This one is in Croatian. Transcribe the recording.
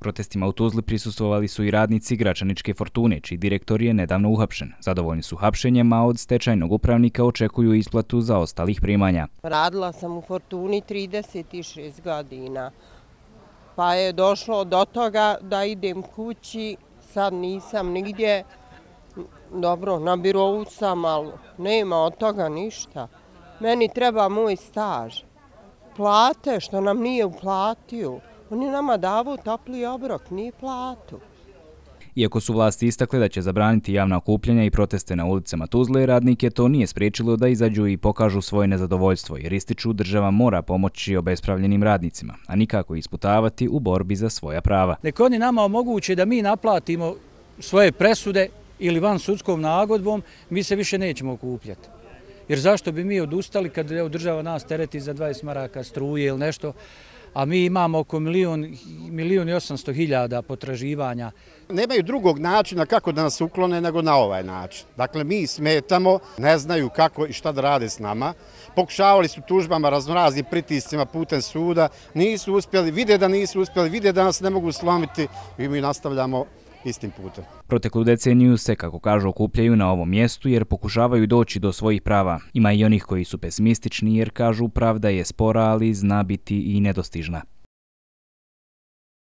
Protestima u Tuzli prisustvovali su i radnici Gračaničke Fortune, čiji direktor je nedavno uhapšen. Zadovoljni su hapšenjem, a od stečajnog upravnika očekuju isplatu zaostalih primanja. Radila sam u Fortuni 36 godina, pa je došlo do toga da idem kući, sad nisam nigdje, dobro, na birovu sam, ali nema od toga ništa. Meni treba moj staž, plate što nam nije uplatio. On je nama davao topli obrok, nije platu. Iako su vlasti istakle da će zabraniti javna okupljanja i proteste na ulicama Tuzle, radnike to nije spriječilo da izađu i pokažu svoje nezadovoljstvo, jer ističu država mora pomoći obespravljenim radnicima, a nikako isputavati u borbi za svoja prava. Neka oni nama omoguće da mi naplatimo svoje presude ili van sudskom nagodbom, mi se više nećemo okupljati. Jer zašto bi mi odustali kad država nas tereti za 20 maraka struje ili nešto, a mi imamo oko 1.800.000 potraživanja. Nemaju drugog načina kako da nas uklone nego na ovaj način. Dakle, mi smetamo, ne znaju kako i šta da rade s nama. Pokušavali su tužbama, raznoraznim pritiscima putem suda, nisu uspjeli, vide da nisu uspjeli, vide da nas ne mogu slomiti i mi nastavljamo istim putem. Proteklu deceniju se, kako kažu, okupljaju na ovom mjestu jer pokušavaju doći do svojih prava. Ima i onih koji su pesimistični jer kažu pravda je spora, ali zna biti i nedostižna.